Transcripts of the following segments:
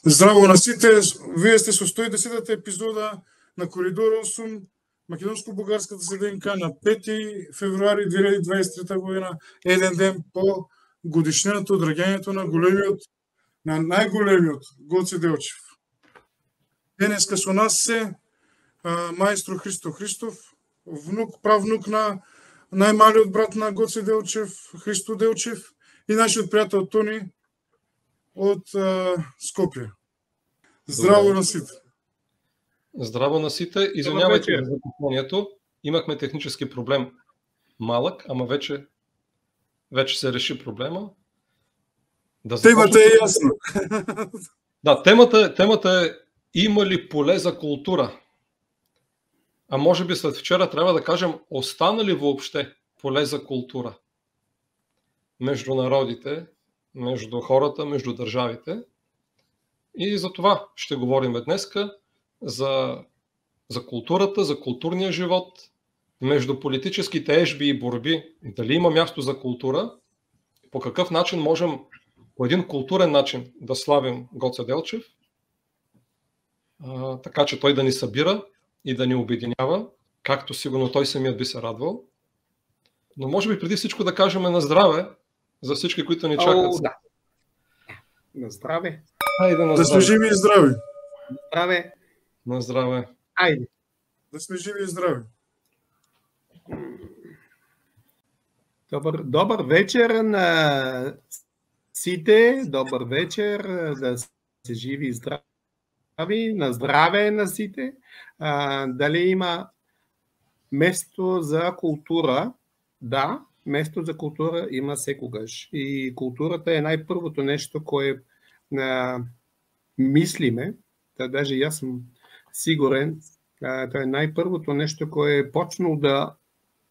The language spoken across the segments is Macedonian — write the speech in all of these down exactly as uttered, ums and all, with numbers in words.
Здраво на сите, вие сте со сто и десета епизода на Коридор осум, македонско-бугарската седенка на пети февруари две илјади дваесет и трета година, еден ден по годишнината од раѓањето на големиот, на најголемиот Гоце Делчев. Денеска со нас се а, маестро Христо Христов, внук, правнук на најмалиот брат на Гоце Делчев, Христо Делчев, и нашиот пријател Тони од а, Скопје. Здраво на сите. Здраво на сите. Извинявајте за закъснението. Имахме технически проблем малък, ама вече вече се реши проблема. Да темата е ясна. Да, темата, темата е има ли поле за култура? А може би след вчера трябва да кажем остана ли въобще поле за култура между народите, между хората, между държавите. И за това ще говорим днеска, за, за културата, за културния живот, между политическите ежби и борби, дали има място за култура, по какъв начин можем по един културен начин да славим Гоце Делчев, а, така че той да ни събира и да ни обединява, както сигурно той самият би се радвал. Но може би преди всичко да кажем на здраве за всички, които ни чакат. О, да. На здраве. Хайде на Да сме здраве. живи и здрави. Здраве. На здраве. Айде. Да сме живи и здрави. Добър, добър вечер на сите. Добър вечер, да се живи и здрави. На здраве на сите. А, дали има место за култура? Да, место за култура има секогаш. И културата е най-първото нещо, кое а, мислиме. Та даже и аз съм сигурен, а, това е най-първото нещо, кое е почнал да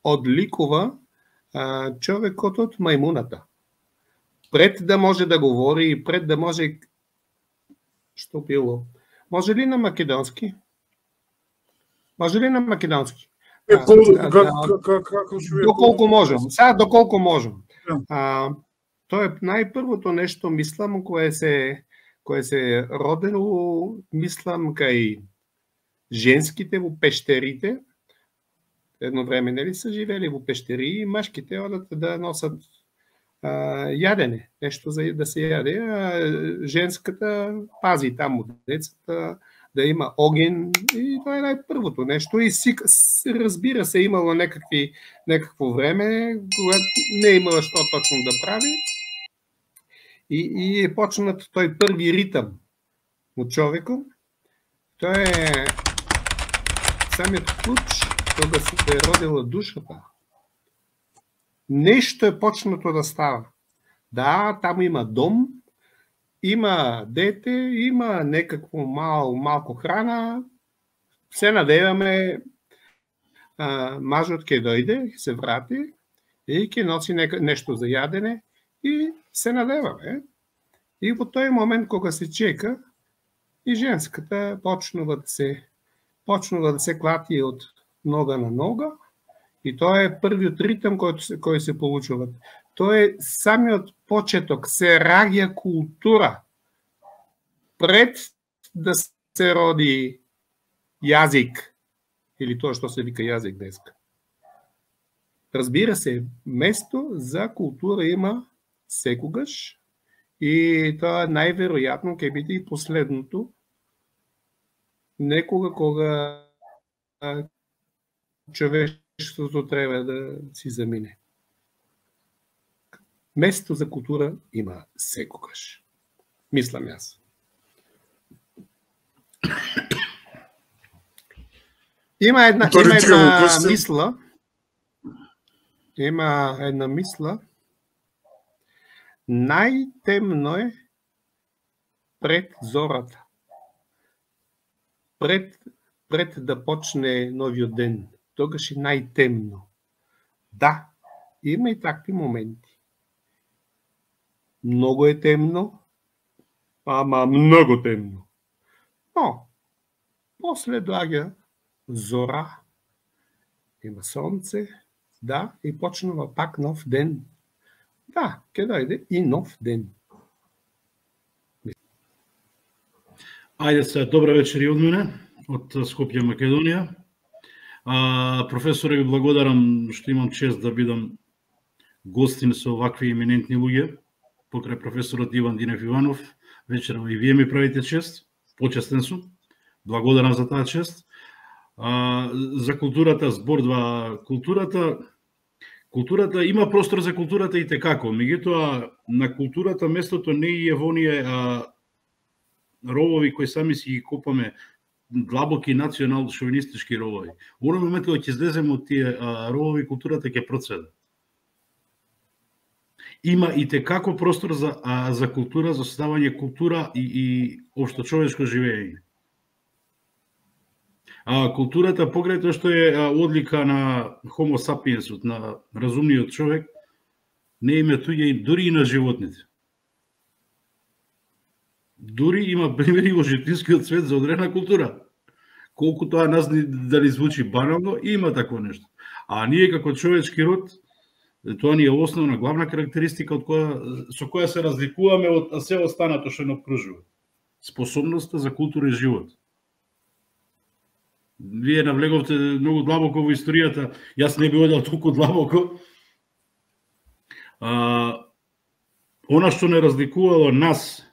отликува а, човекът от маймуната. Пред да може да говори, пред да може... Що било? Може ли на македонски? Може ли на македонски? Е, а, как, как, как, как, доколко можем. Сега доколко можем. А, то е най-първото нещо, мислам, кое се, кое се родило, мислам, кај женските во пещерите. Едно време, нели са живели во пещери и машките одат да носат а, ядене, нещо за да се яде, а женската пази там от децата, да има огън, и това е най-първото нещо. И си, разбира се, имало някакви, някакво време, когато не е имало що точно да прави, и, и е почнат той първи ритъм от човека. Той е самият ключ, тога се е родила душата. Нещо е почнато да става. Да, там има дом, има дете, има некакво мал, малко храна, се надеваме а, мажот ке дойде, се врати и ке носи нещо за ядене и се надеваме. И во този момент, кога се чека, и женската почнува да се, почнува да се клати от нога на нога, и тоа е првиот ритъм кој се, кој се получува. Тоа е самиот почеток, се раѓа култура пред да се роди јазик, или тоа што се вика јазик деска. Разбира се, место за култура има секогаш, и тоа најверојатно ќе биде и последното, некога кога човештвото треба да си замине. Место за култура има секогаш. Мислам јас. Има една, има една мисла. Има една мисла. Най-темно е пред зората. Пред, пред да почне новиот ден. Тогаш е най-темно. Да, има и такви моменти. Много е темно, ама много темно. Но, после доаѓа зора, има сонце, да, и почнува пак нов ден. Да, ке дојде и нов ден. Ајде се, добра вечер и од мене, од Скопје, Македонија. А, професоре, ви благодарам што имам чест да бидам гостин со овакви еминентни луѓе, покрај професорот Иван Динев Иванов. Вечерва и вие ми правите чест, почестен сум. Благодарам за таа чест. А, за културата, збордва културата, културата има простор за културата и текако, меѓутоа на културата местото не е во оние а, ровови кои сами си ги копаме, длабоки национал шовинистички ровови. Во оној момент кога ќе излеземе од тие а, ровови, културата ќе процеда. Има и текако простор за а, за култура, за создавање култура и, и општо човечко живење. А културата, покрај тоа што е а, одлика на Homo sapiensот, на разумниот човек, не има туѓа и дури и на животните. Дури има примери во животинскиот свет за одредена култура. Колку тоа нас да ни звучи банално, има такво нешто. А ние како човечки род, тоа ни е основна, главна карактеристика од која, со која се разликуваме од се останато што ни окружува. Способноста за култура и живот. Вие навлеговте многу длабоко во историјата, јас не би одел толку длабоко. А, она што не разликувало нас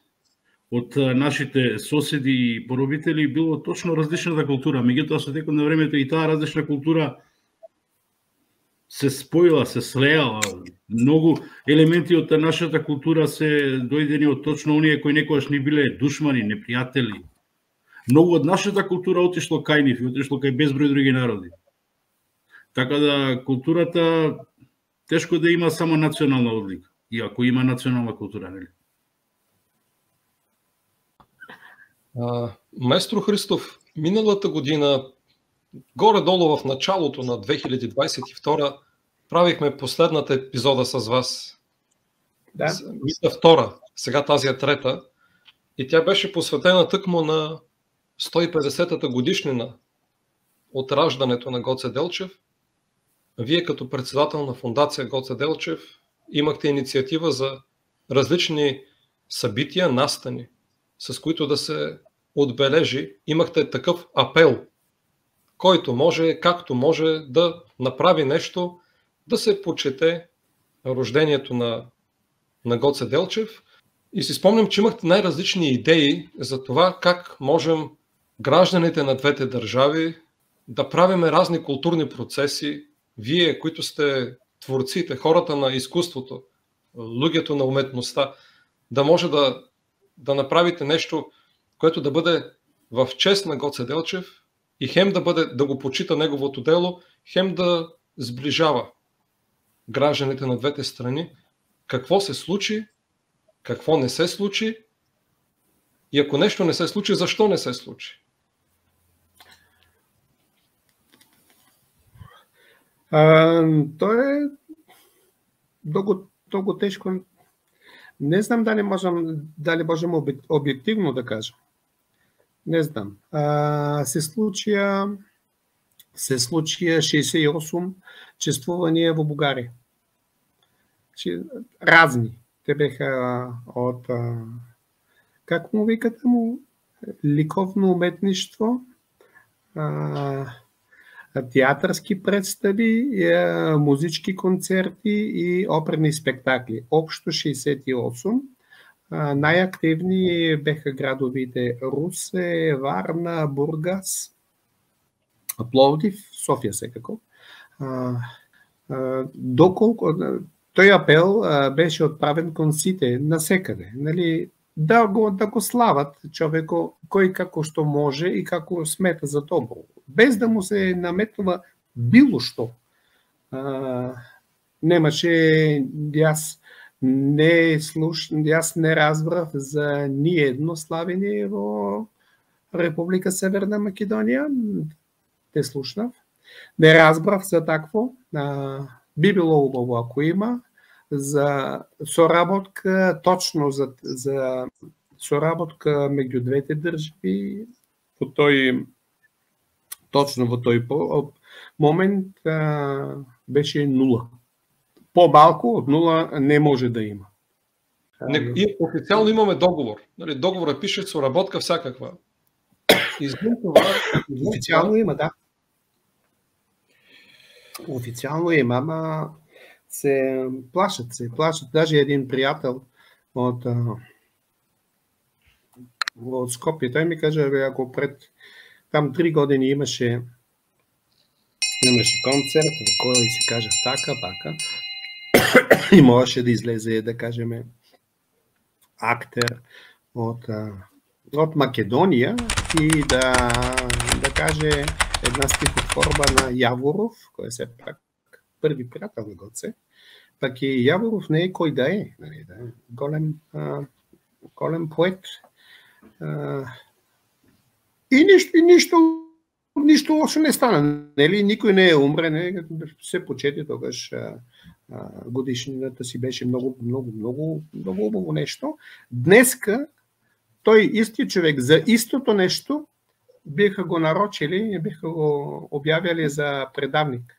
од нашите соседи и поробители било точно различната култура. Меѓутоа со текот на времето и таа различна култура се споила, се слеала. Многу елементи од нашата култура се дојдени од точно оние кои некогаш ни биле душмани, непријатели. Многу од нашата култура отишло кај нив и отишло кај безброј други народи. Така да културата тешко да има само национална одлика, иако има национална култура, нели? А, Маестро Христов, миналата година, горе-долу в началото на две хиляди дваесет и втора, правихме последната епизода с вас. Да. Мисля втора, сега тази е трета. И тя беше посветена тъкмо на сто и петдесетата годишнина от раждането на Гоце Делчев. Вие като председател на фондация Гоце Делчев имахте инициатива за различни събития, настани, с които да се отбележи. Имахте такъв апел, който може, както може да направи нещо, да се почете рождението на, на Гоце Делчев. И си спомням, че имахте най-различни идеи за това как можем гражданите на двете държави да правиме разни културни процеси. Вие, които сте творците, хората на изкуството, луѓето на уметността, да може да, да направите нещо, което да бъде в чест на Гоце Делчев и хем да, бъде, да го почита неговото дело, хем да сближава гражданите на двете страни. Какво се случи, какво не се случи и ако нещо не се случи, защо не се случи? А, тоа е долго, долго тешко. Не знам дали можам, дали можем објективно да кажам. Не знам. А, се случија се случија шеесет и осум чествувања во Бугарија. Разни. Те беха од, как му викате му, ликовно уметништво, театарски представи, музички концерти и оперни спектакли. Обшто шеесет и осум. Најактивни беха градовите Русе, Варна, Бургас, Пловдив, Софија секако. Доколку тој апел беше отправен кон сите насекаде, нели, да го да го слават човеко кој како што може и како смета за добро, без да му се наметнува било што. А, немаше, јас не слуш, јас не разбрав за ни едно славење во Република Северна Македонија. Те слушнав. Не разбрав за такво. А, би било убаво ако има за соработка, точно за, за соработка меѓу двете држави во тој точно во тој момент а, беше нула. По-малку од нула не може да има. Не, и официјално имаме договор. Договорот пише соработка всякаква. извън това... Официално има, да. Официално има, ама се плашат, се плашат. Даже един приятел от, от Скопие, той ми каже, ако пред там три години имаше имаше концерт, кой си каже така, пака, и можеше да излезе, да кажем, актер от, от Македония и да, да каже една стихотворба на Јаворов, кој е се пак први приятел на Гоце, пак и Јаворов не е кој да е, нали, да е голем, а, голем поет. А, и ништо, и ништо, ништо лошо не стана, нели, никој не е умре, не, се почети тогаш а, а, годишнината си беше многу, многу, многу, многу убаво нешто. Днеска тој исти човек за истото нешто биха го нарочили, биха го објавили за предавник.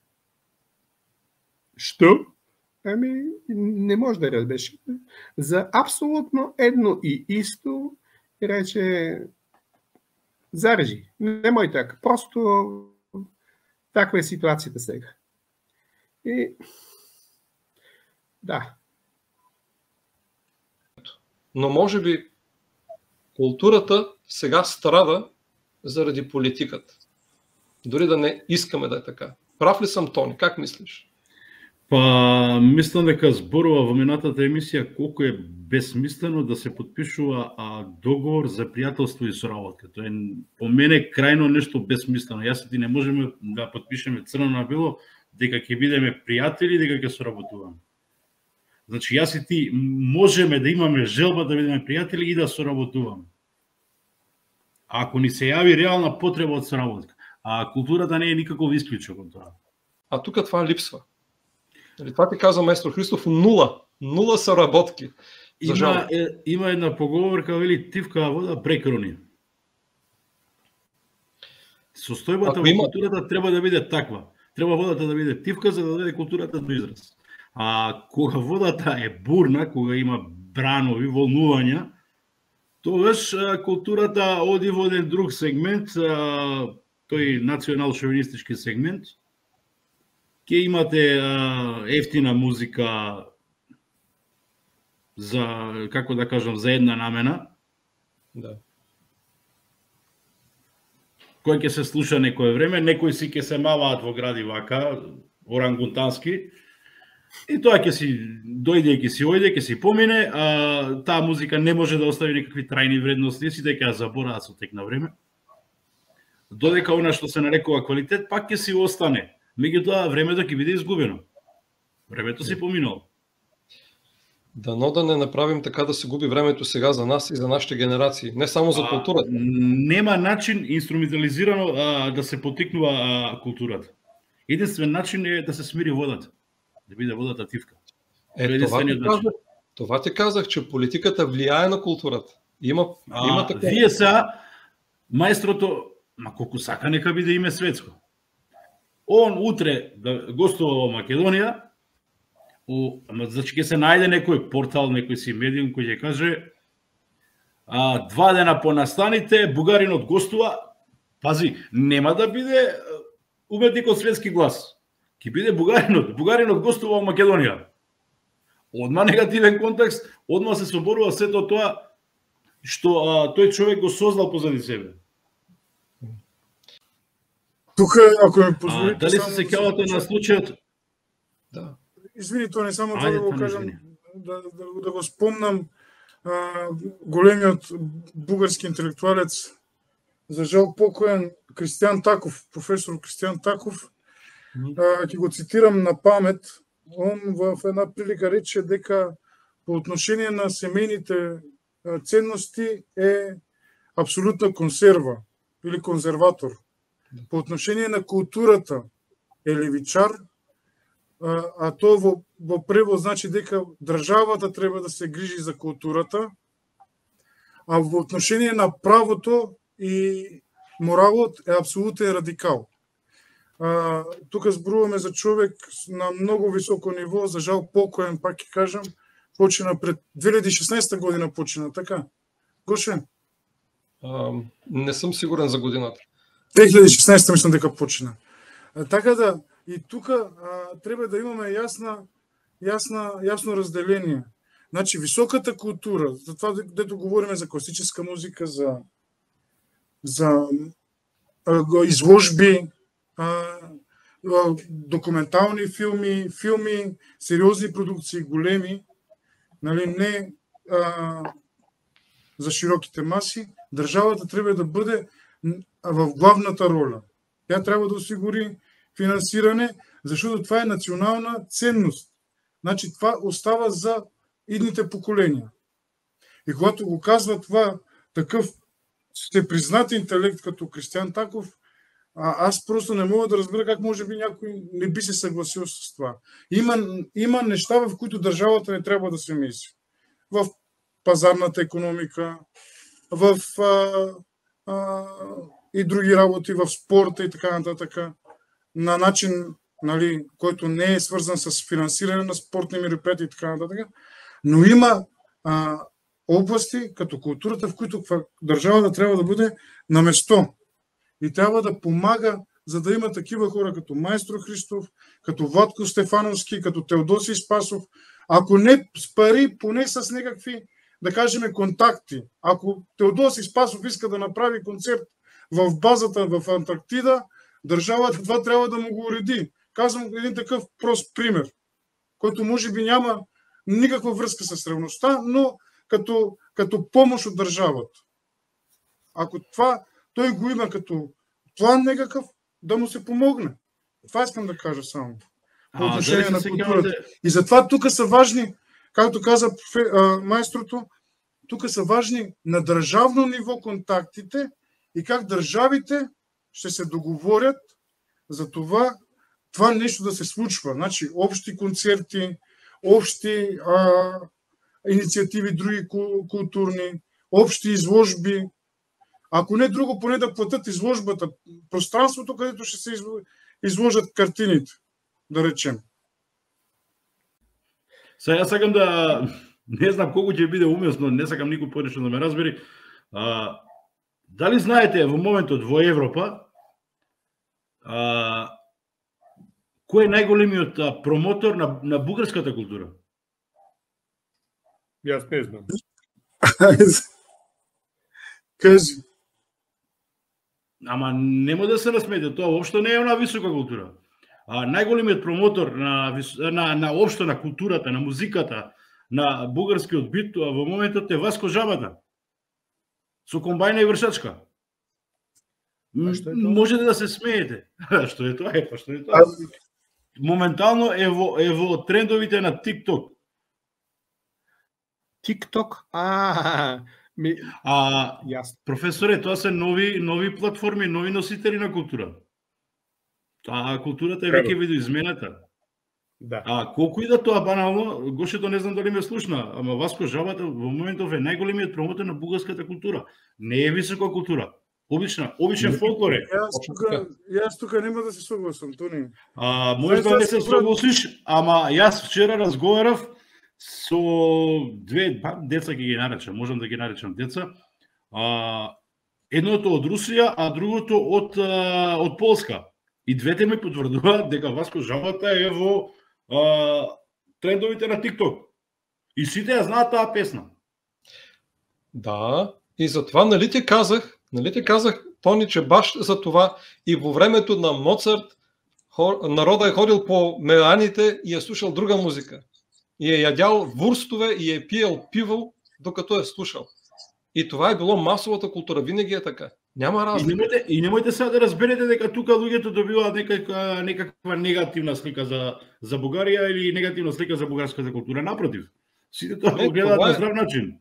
Што? Ами, не може да разбеш. За апсолутно едно и исто рече зарежи. Немој така. Просто таква е ситуацијата сега. И да. Но може би културата сега страда заради политиката. Дори да не искаме да е така. Прав ли съм, Тони? Как мислиш? Па, мислам дека зборува во минатата емисија колку е безсмислено да се подпишува а, договор за пријателство и соработка. Тоа е по мене крајно нешто безсмислено. Јас и ти не можеме да подпишеме црно на бело дека ќе бидеме пријатели, дека ќе соработуваме. Значи јас и ти можеме да имаме желба да бидеме пријатели и да соработуваме. Ако ни се јави реална потреба од соработка, а културата не е никаков исклучок од тоа. А тука това липсва. Това ти каза маестро Христоф, нула. Нула соработки. Има, е, има една поговорка, вели тивкава вода прекрони. Состојбата во има... културата треба да биде таква. Треба водата да биде тивка за да дојде културата до израз. А кога водата е бурна, кога има бранови, волнувања, тогаш културата оди во еден друг сегмент, тој национал-шовинистички сегмент. Ке имате а, ефтина музика за, како да кажам, за една намена. Да. Кој ќе се слуша некое време, некои си ќе се маваат во гради вака, орангутански, и тоа ќе си дојде, ќе си ојде, ќе си помине, а таа музика не може да остави никакви трајни вредности, си дека ја забораат со тек на време. Додека она што се нарекува квалитет, пак ќе си остане. Меѓутоа, времето ќе биде изгубено. Времето си поминало. Дано да не направим така да се губи времето сега за нас и за нашите генерации, не само за културата. А, нема начин инструментализирано а, да се потикнува а, културата. Единствен начин е да се смири водата, да биде водата тивка. Е, това, ти казах, това ти казах, че политиката влияе на културата. Има, а, има така. Вие са маестрото, ма колку сака нека биде име светско. Он утре да гостува во Македонија, у, значи ќе се најде некој портал, некој си медиум кој ќе каже а, два дена по настаните, бугаринот гостува, пази, нема да биде уметникот светски глас. Ќе биде бугаринот, бугаринот гостува во Македонија. Одма негативен контекст, одма се соборува сето тоа што а, тој човек го создал позади себе. Тука, ако ме позволите, дали се сеќавате на случајот? Да. Извини, тоа не само тоа да го кажам, да, да, да го спомнам а, големиот бугарски интелектуалец, за жал покоен Кристијан Таков, професор Кристијан Таков, а, ќе го цитирам на памет. Он во една прилика рече дека по отношение на семејните ценности е апсолутна консерва или конзерватор. По отношение на културата е левичар, а, а тоа во, во превод значи дека државата треба да се грижи за културата, а во отношение на правото и моралот е апсолутен радикал. А, тука зборуваме за човек на многу високо ниво, за жал покоен, пак ќе кажам, почина пред две илјади и шеснаесета година почина, така? Гоше? А, не сум сигурен за годината. две илјади и шеснаесета мислам дека почина. А, така да и тука а, треба да имаме јасна јасна јасно разделение. Значи високата култура, за това дето говориме за класическа музика, за за а, изложби, а, а, документални филми, филми, сериозни продукции, големи, нали, не а, за широките маси, државата треба да биде в главната роля. Тя трябва да осигури финансиране, защото това е национална ценност. Значи това остава за идните поколения. И когато го казва това такъв всепризнат интелект като Кристиян Таков, а, аз просто не мога да разбера как може би някой не би се съгласил с това. Има, има неща, в които държавата не трябва да се меси. В пазарната икономика, в а, а, и други работи, в спорта и така нататък, на начин, нали, който не е свързан с финансиране на спортни мероприятия и така нататък, но има а, области, като културата, в които държавата трябва да бъде на место и трябва да помага, за да има такива хора като Майстор Христов, като Владко Стефановски, като Теодосий Спасов, ако не с пари, поне с някакви, да кажем, контакти. Ако Теодосий Спасов иска да направи концерт в базата в Антарктида, държавата това трябва да му го уреди. Казвам един такъв прост пример, който може би няма никаква връзка с ревността, но като, като помощ от държавата. Ако това той го има като план някакъв, да му се помогне. Това искам да кажа само. По отношение на културата. И затова тук са важни, както каза майстрото, тук са важни на държавно ниво контактите и как държавите ще се договорят за това, това нещо да се случва. Значи, общи концерти, общи а, инициативи, други културни, общи изложби. Ако не друго, поне да платят изложбата, пространството, където ще се изложат картините, да речем. Сега сакам да, не знам колко ќе биде уместно, не сакам никој понешто да ме разбери. А, дали знаете во моментот во Европа а, кој е најголемиот промотор на, на бугарската култура? Јас не знам. Кажи. Ама нема да се насмете, тоа воопшто не е една висока култура. А, најголемиот промотор на, на, на општо на културата, на музиката, на бугарскиот бит во моментот е Васко Жабата. Со комбајна и вршачка. Можете да се смеете. Што е тоа? Е, па што е тоа? Моментално е во, е во трендовите на TikTok. TikTok? А, ми... а Јасно. Професоре, тоа се нови нови платформи, нови носители на култура. А културата е веќе видоизмената. Да. А колку и да тоа банално, Гошето не знам дали ме слушна, ама Васко Жабата во моментов е најголемиот промотор на бугарската култура. Не е висока култура. Обична, обичен фолклор е. Јас тука, јас тука нема да се согласам, Тони. А, може да не се согласиш, ама јас вчера разговарав со две деца, ќе ги наречам, можам да ги наречам деца. А, едното од Русија, а другото од а, од Полска. И двете ми потврдуваат дека Васко Жабата е во а, трендовите на TikTok. И сите ја знаат таа песна. Да, и затова нали ти казах, нали ти казах, Тони, че баш за това и во времето на Моцарт хор, народа е ходил по меланите и е слушал друга музика. И е ядял вурстове и е пиел пиво, докато е слушал. И това е било масовата култура, винаги е така. Няма разлика. И немојте, и немојте сега да разберете дека тука луѓето добиваат некаква, некаква негативна слика за, за Бугарија или негативна слика за бугарската култура. Напротив, сите тоа го гледаат на здрав начин.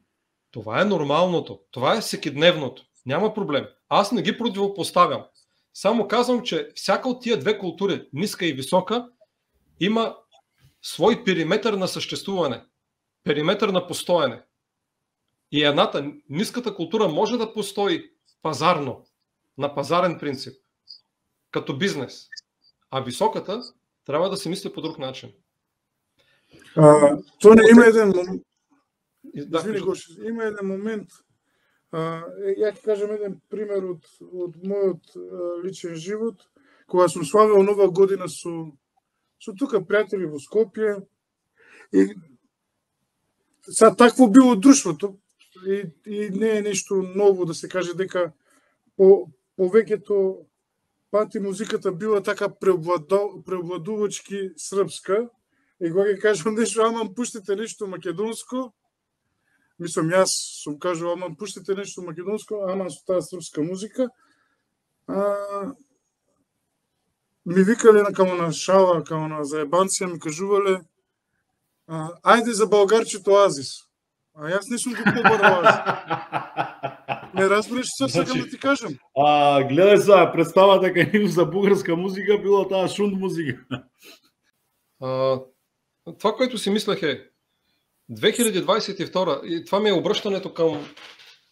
Това е нормалното. Това е всекидневното. Няма проблем. Аз не ги противопоставям. Само казвам, че всяка от тия две култури, ниска и висока, има свой периметър на съществуване. Периметър на постояне. И едната, ниската култура може да постои пазарно, на пазарен принцип, като бизнес. А високата трябва да се мисли по друг начин. А, то не има един момент. Да, Извини, Гоше, има един момент. Ја ќе кажам еден пример од, од мојот личен живот, кога сум славил нова година со, со тука пријатели во Скопје. И са такво било друштвото, и, и не е нешто ново да се каже дека по повеќето пати музиката била така преобладувачки српска. И кога ќе кажам нешто, ама пуштите нешто македонско, мислам, јас сум кажал, ама пуштите нешто македонско, ама со таа српска музика, а, ми викале на камо на шала, камо на заебанција, ми кажувале, а, ајде за българчето Азис. А јас не сум го побарал Азис. Не разбираш што сакам да ти кажам. А, гледај за представата кај нив за бугарска музика било таа шунт музика. А, това, което си мислех е две хиляди дваесет и втора, и това ми е обръщането към,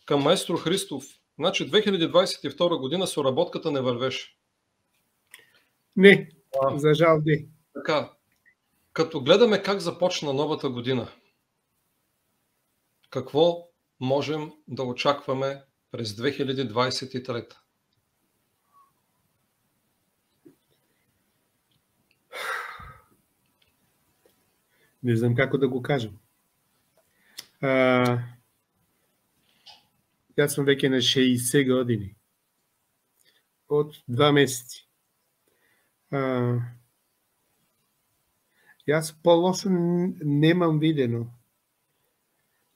към маестро Христов. Значи две хиляди дваесет и втора година соработката не вървеше. Не, а, за жал не. Така, като гледаме как започна новата година, какво можем да очакваме през две хиляди дваесет и трета? Не знам како да го кажам. А, јас сум веќе на шеесет години. Од два месеци. А, јас полошо немам видено.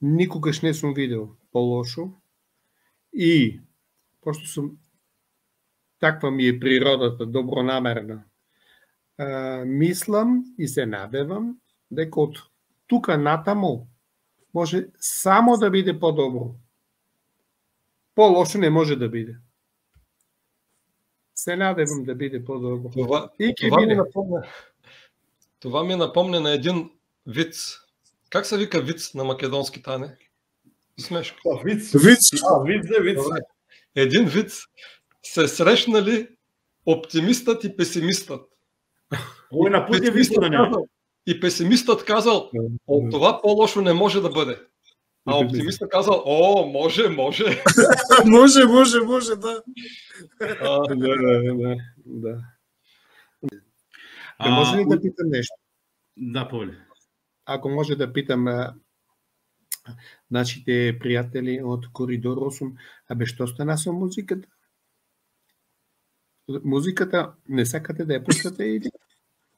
Никогаш не сум видел полошо. И, пошто сум таква ми е природата, добронамерна, а, мислам и се надевам дека од тука натаму може само да биде по-добро. По-лошо не може да биде. Се надевам да биде по-добро. Това, И ќе това, ми биде. напомня, това ми напомня на един виц. Как се вика виц на македонски, Тане? Смешка. Виц. Виц. А, виц е виц. Добре. Един виц се срещнали оптимистът и песимистът. Ој на пут е вистина не. И песимистът казал, от това по-лошо не може да бъде. А оптимистът казал, о, може, може. Може, може, може, да. А, Да, да, да, да. Да може ли да питам нешто? Да, повели. Ако може да питам а, нашите пријатели од Коридор осум, абе што стана со музиката? Музиката не сакате да ја пуштате или?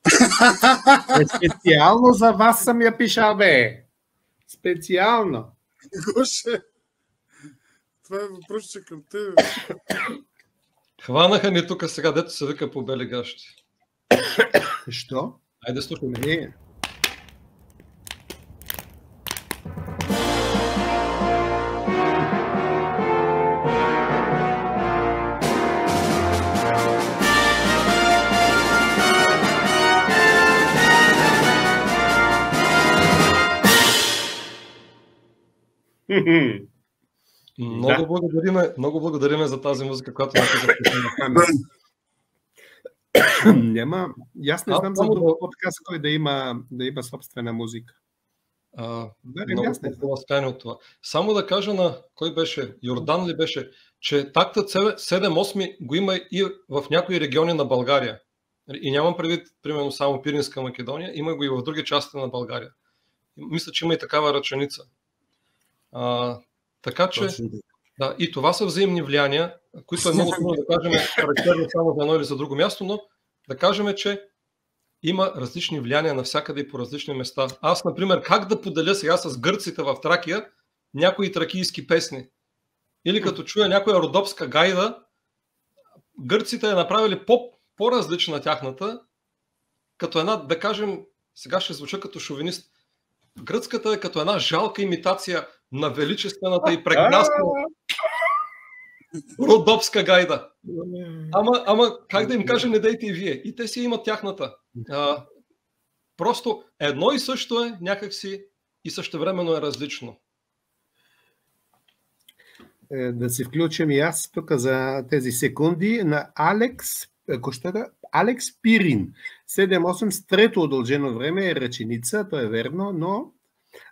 Е, специјално за вас сам ја пишал, бе. Специјално. Гоше, това е въпросче към тебе. хванаха ни тук сега, дето се вика по бели гащи. Што? Айде слушаме. Не. Много благодариме, много благодариме за тази музика, която написахте. Нема, јас не А, знам за само друг да- подкаст кој да има да има собствена музика. А, Барем много јас не знам. ласкани от това. Само да кажа на кой беше, Йордан ли беше, че тактът седем осем го има и в някои региони на България. И нямам предвид, примерно, само Пиринска Македония, има го и в други части на България. Мисля, че има и такава ръченица. А, така че, да, и това са взаимни влияния, които е много трудно да кажем характерно само за едно или за друго място, но да кажем, че има различни влияния навсякъде и по различни места. Аз, например, как да поделя сега с гърците в Тракия някои тракийски песни? Или като чуя някоя родопска гайда, гърците е направили по, по-различна тяхната, като една, да кажем, сега ще звуча като шовинист, гръцката е като една жалка имитация на величествената и прекрасна родопска гайда. Ама, ама как да им кажа, не дейте и вие. И те си имат тяхната. А, просто едно и също е някакси и същевременно е различно. Е, да се включим и аз тук за тези секунди на Алекс, коштата, Алекс Пирин. седем осем с трето удължено време е реченица, то е верно, но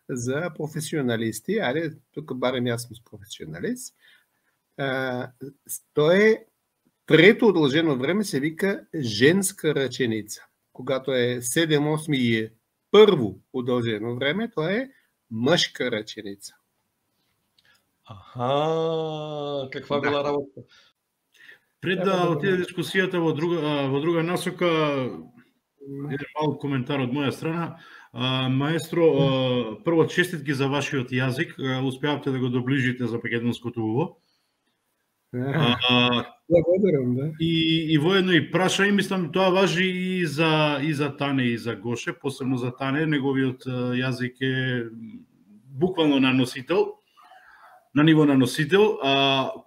за професионалисти, ајде, тук барем јас сум професионалист, А, тоа е трето одолжено време се вика женска раченица. Когато е седем осми и е прво удолжено време, тоа е мъжка раченица. Аха, каква Да. била работа? Пред Треба да да го отиде научиш. дискусијата во друга а, во друга насока, еден мал коментар од моја страна. А, маестро, а, прво честитки за вашиот јазик, а, успеавте да го доближите за македонското уво. А, Благодарам, да. И, и воедно и праша, и мислам тоа важи и за и за Тане и за Гоше, посебно за Тане, неговиот а, јазик е буквално на носител, на ниво на носител. А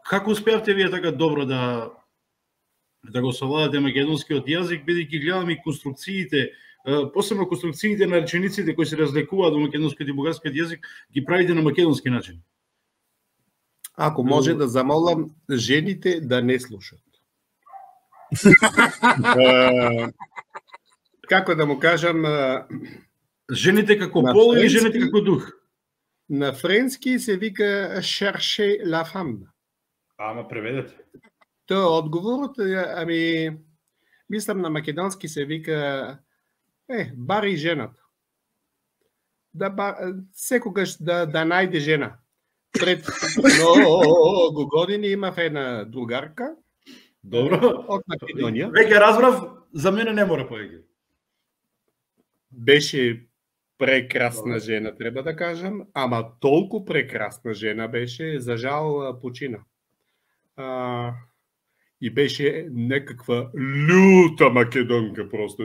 како успеавте вие така добро да да го совладате македонскиот јазик, бидејќи гледам и конструкциите, а, посебно конструкциите на речениците кои се разликуваат во македонскиот и бугарскиот јазик, ги правите на македонски начин? Ако може да замолам жените да не слушат. Е, Како да му кажам, е, Жените како На пол или френски- жените како дух? на френски се вика chercher la femme. Ама преведете. Тоа е одговорот, е, ами мислам на македонски се вика е, бари жената. Да ба, секогаш да да најде жена. Пред многу години имав една другарка Добро. од Македонија. Веќе разбрав, за мене не мора повеќе. Беше прекрасна жена, треба да кажам, ама толку прекрасна жена беше, за жал почина. А, и беше некаква люта македонка просто.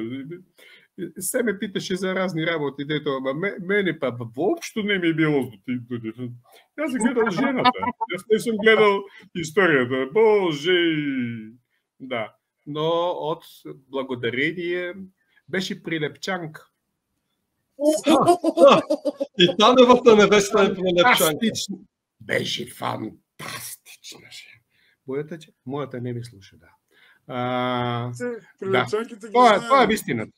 Се ме питаше за разни работи, дето, ама ме- мене па воопшто не ми е било дотивно. Јас съм гледал жената. Јас не сум гледал историјата. Боже! Да. Но од благодарение беше прилепчанка. И Таневата невеста е прелепчанка. Фантастична. Беше фантастична жена. Мојата, че- мојата не ми слуша, да. А, Прилепчанките ги тоа, знаеме. тоа е вистината.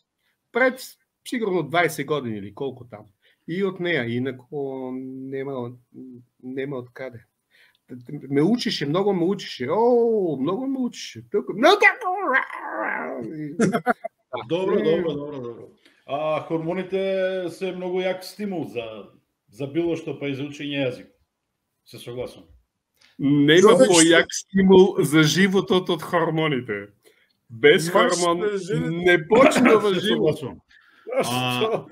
Пред сигурно дваесет години или колку таму. И од неа, инако нема, нема од каде. Ме учише, многу ме учише. О, многу ме учише. Тука, многу. Добро, добро, добро, добро. А хормоните се многу јак стимул за за било што, па и за учење јазик. Се согласувам. Нема Човек појак стимул за животот од хормоните. Без Маш хормон да жене- не почнува Се живот. согласувам. А,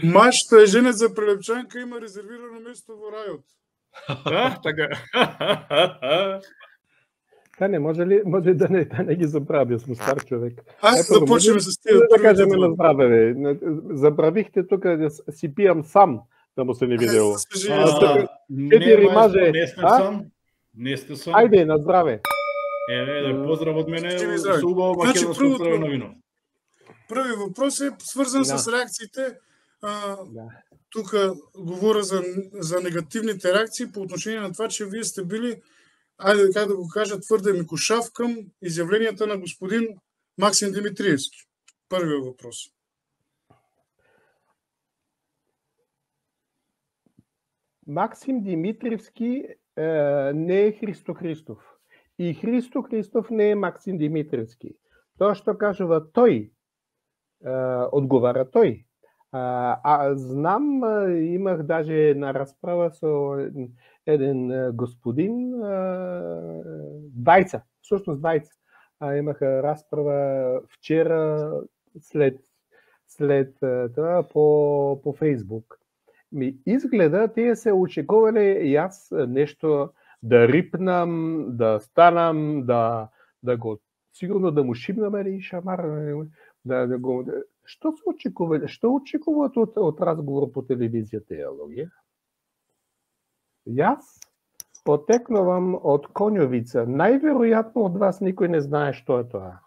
Маш што е женет за прелепчанка има резервирано место во рајот. А, така. Та не, може ли, може да не, да не ги забравя, сме стар човек. Ајде Ето, да почнеме може с тие Да првите кажеме два. на здраве, бе. Забравихте тука да с- си пијам сам, да му се не видело. Се живи а, здраво. четири не, маестро, маже, не сте а? сам. Не сте сам. Ајде, на здраве. Еве, да поздрав од мене Живи со здрави. убаво Значи, македонско првото- црвено вино. Први вопрос е сврзан Да. с реакциите. А, Да. тука говоря за, за негативните реакции по отношение на това, че вие сте били, ајде как да го кажа, тврде микушав към изявленията на господин Максим Димитриевски. Првиот въпрос. Максим Димитриевски е, не е Христо Христов. И Христо Христов не е Максим Димитриевски. Тоа што кажува тој, е, одговара тој. А, а знам, е, имах даже една расправа со еден, еден е, господин, е, двајца, всушност двајца. А, имаха расправа вчера след, след е, тоа по, по Фейсбук. Ми изгледа тие се очекувале јас нешто да рипнам, да станам, да да го сигурно да му шибнам или шамар, да, да го што се очекувале, што очекуваат од, од разговор по телевизија тие луѓе? Јас потекнувам од Конјовица. Најверојатно од вас никој не знае што е тоа.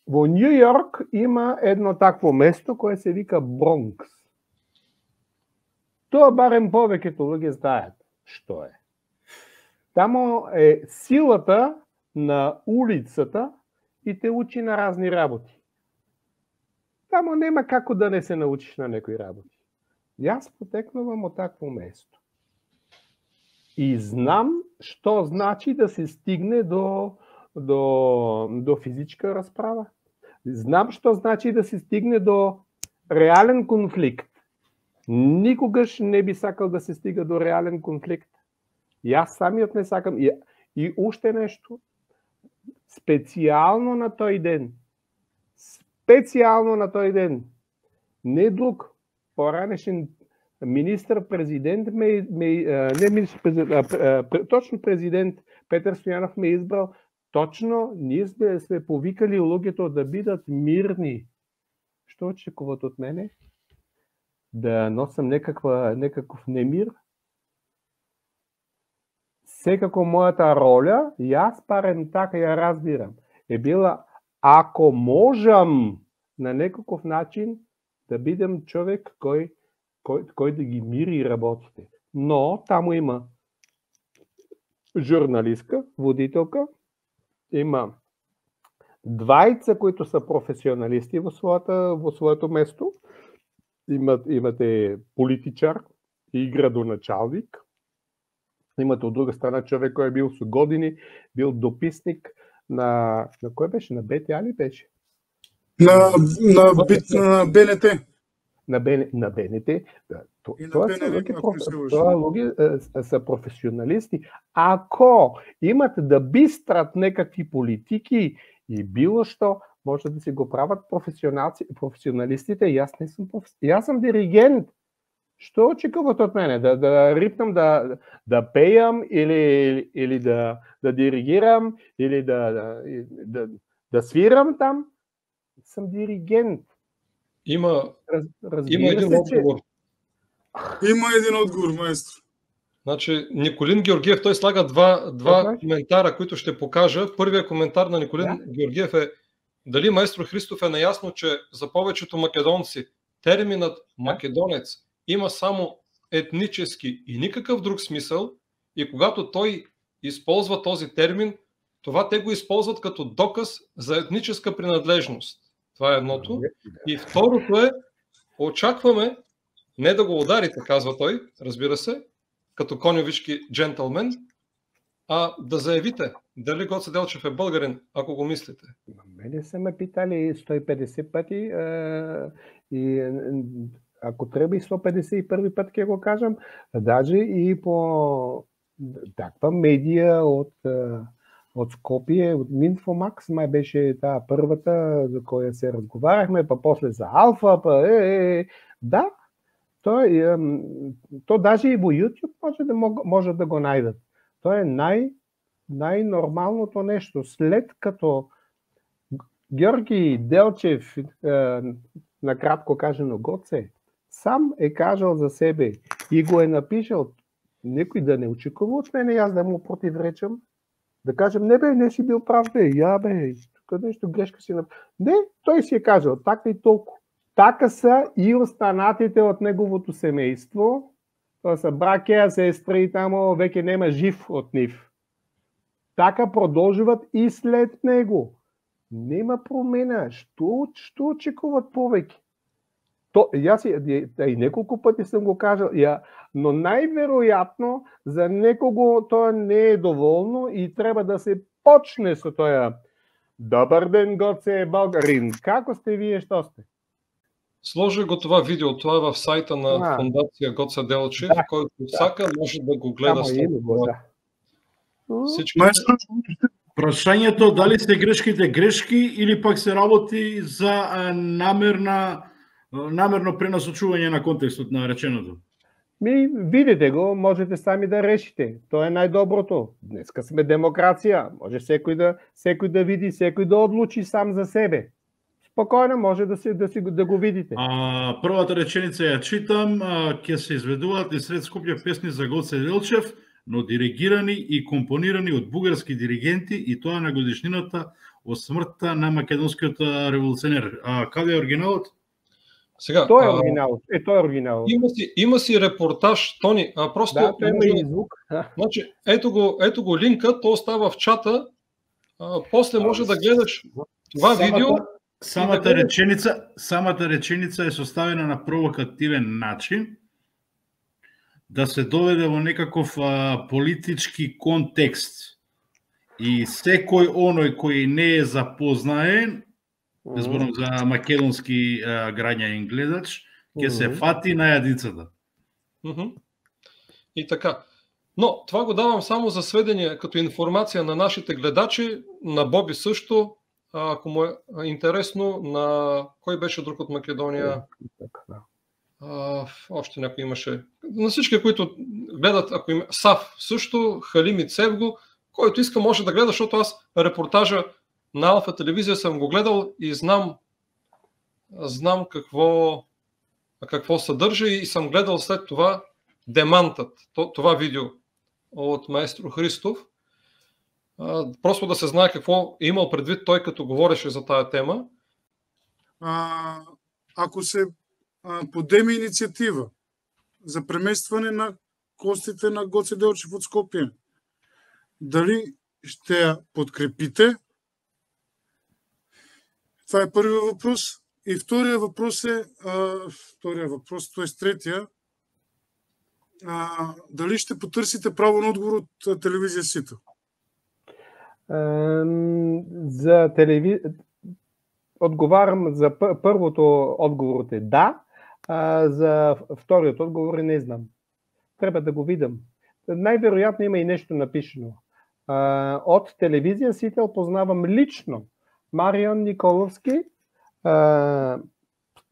Во Њу Јорк има едно такво место кое се вика Бронкс. Тоа барем повеќето луѓе знаат што е. Тамо е силата на улицата и те учи на разни работи. Тамо нема како да не се научиш на некои работи. Јас потекнувам од такво место. И знам што значи да се стигне до, до, до физичка расправа. Знам што значи да се стигне до реален конфликт. Никогаш не би сакал да се стига до реален конфликт. Јас самиот не сакам. И, и уште нешто. Специјално на тој ден. Специјално на тој ден. Не друг, поранешен министр-президент ме, ме не министр-президент, а, точно президент Петар Стојанов ме избрал. Точно ние сме, сме повикали луѓето да бидат мирни. Што очекуват од мене? Да носам некаква, некаков немир? Секако мојата роля, јас парем така ја разбирам, е била ако можам на некаков начин да бидем човек кој, кој, кој да ги мири работите. Но таму има журналистка, водителка, има двајца кои се професионалисти во својата во своето место. Имат, имате политичар и градоначалник. Имате од друга страна човек кој е бил со години, бил дописник на на кој беше, на Б Т А ли беше? На на на Б Н Т. На Б на Б Н Т. Да, то, И на тоа Б Н се Р, луѓе ако проф- се лъжа. тоа луѓе е, се професионалисти. Ако имат да бистрат некакви политики и било што, може да си го прават професионалци, професионалистите. Јас не сум проф... Јас сум диригент. Што очекуват од мене? Да, да рипнам, да, да пејам или, или да, да диригирам или да, да, да, да свирам там? Сум диригент. Има, Раз, разбира има един се, че... одговор. Има еден одговор, маестро. Значи, Николин Георгиев, тој слага два, два Така. коментара, които ще покажа. Првиот коментар на Николин Да. Георгиев е дали маестро Христов е наясно, че за повечето македонци терминът македонец има само етнически и никакъв друг смисъл и когато той използва този термин, това те го използват като доказ за етническа принадлежност. Това е едното. И второто е, очакваме не да го ударите, казва той, разбира се, като коньовички джентълмен, а да заявите дали Гоце Делчев е българин, ако го мислите. Мене са ме питали сто и петдесет пъти а, и ако трябва и сто петдесет и първи път ќе го кажам, даже и по таква медија от, от Скопие, от Минфомакс, май беше таа първата, за која се разговаряхме, па после за Алфа, па е, е, е. Да, то, е, то даже и во YouTube може да, може да го најдат. То е нај, најнормалното нешто. След като Георги Делчев, е, накратко кажено Гоце, сам е кажал за себе и го е напишал, некој да не очекува од мене јас да му противречам, да кажем, не бе, не си бил прав, бе, ја бе, тука нешто грешка си направил. Не, тој си е кажал, така и толку. Така са и останатите од неговото семејство, тоа са браќа, сестри, тамо веќе нема жив од нив. Така продолжуват и след него. Нема промена. Што, што очекуват повеќе? То, јас и, и неколку пати сам го кажал, ја, но најверојатно за некого тоа не е доволно и треба да се почне со тоа. Добар ден, Гоце Българин. Како сте вие, што сте? Сложи го това видео, това е в сайта на А. фондация Гоце Делчев, Да, който да. сака може да го гледа Само след име го, това. да. Всички Маестро, Прашањето дали се грешките грешки или пак се работи за а, намерна намерно пренасочување на контекстот на реченото. Ми, видите го, можете сами да решите. Тоа е најдоброто. Днеска сме демокрација. Може секој да, секој да види, секој да одлучи сам за себе. Спокојно може да си да си да го видите. А, првата реченица ја читам, а, ќе се изведуваат и сред Скопје песни за Гоце Делчев, но диригирани и компонирани од бугарски диригенти и тоа на годишнината од смртта на македонскиот револуционер. А каде е оригиналот? Сега, Тоа е а, оригинал. Е, тоа е оригинал. има си, има си репортаж, Тони, а просто Да, тоа има може- и звук. значи, ето го, ето го линка, то остава в чата, а, после може да гледаш това видео. Самата да го- реченица, самата реченица е составена на провокативен начин. да се доведе во некаков а, политички контекст и секој оној кој не е запознаен, не зборам за македонски а, граѓанин гледач, ќе се фати на јадицата. Мгм. И така. Но това го давам само за сведение като информация на нашите гледачи, на Боби също, ако му е интересно, на кой беше друг от Македония. А, още някой имаше. На всички, които гледат, ако има Сав също, Халими Цевго, който иска може да гледа, защото аз репортажа на Алфа телевизия съм го гледал и знам, знам какво, какво съдържа и съм гледал след това демантът, това видео от маестро Христов. Просто да се знае какво е имал предвид той, като говореше за тая тема. А, ако се а, подеме инициатива за преместване на костите на Гоце Делчев от Скопие, дали ще я подкрепите? Това е първият въпрос. И втория въпрос е, а, втория въпрос, т.е. третия, а, дали ще потърсите право на отговор от телевизия Сито? За телеви... Отговарям за първото отговор е да, а за вторият отговор не знам. Трябва да го видам. Най-вероятно има и нещо напишено. От телевизия Сител познавам лично Марион Николовски.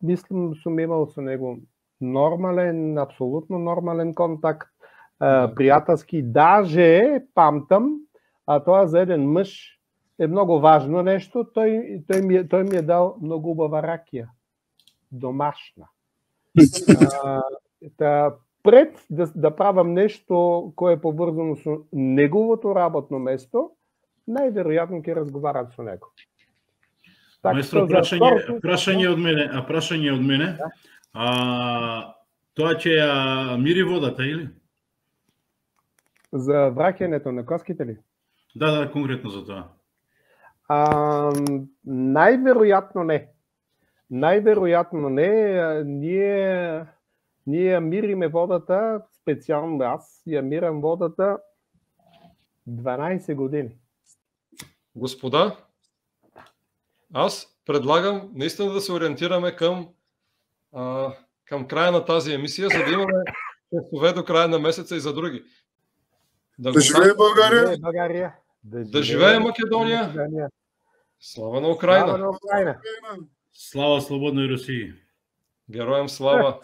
Мислам, съм имал с него нормален, абсолютно нормален контакт. Приятелски, даже памтам, а това за един мъж е много важно нещо. Той, той, ми, той ми е дал много убава ракия. Домашна. А, та, пред да, да правам нещо, кое е повързано с неговото работно место, най-вероятно ќе разговарам со него. Маестро, прашање, прашање од мене, а прашање од мене. Да. А, тоа ќе ја мири водата, или? За враќањето на коските ли? Да, да, конкретно за тоа. А, най-веројатно не. Най-веројатно не. Ние, ние мириме водата, специјално аз, ја мирам водата дванаесет години. Господа, аз предлагам наистина да се ориентираме към, а, към края на тази емисия, за да имаме часове до края на месеца и за други. Да, да живее България! България. Да, да живее Македония! Македония. Слава на Украина! Слава на Украина! Слава слободной Русiji! Героям слава!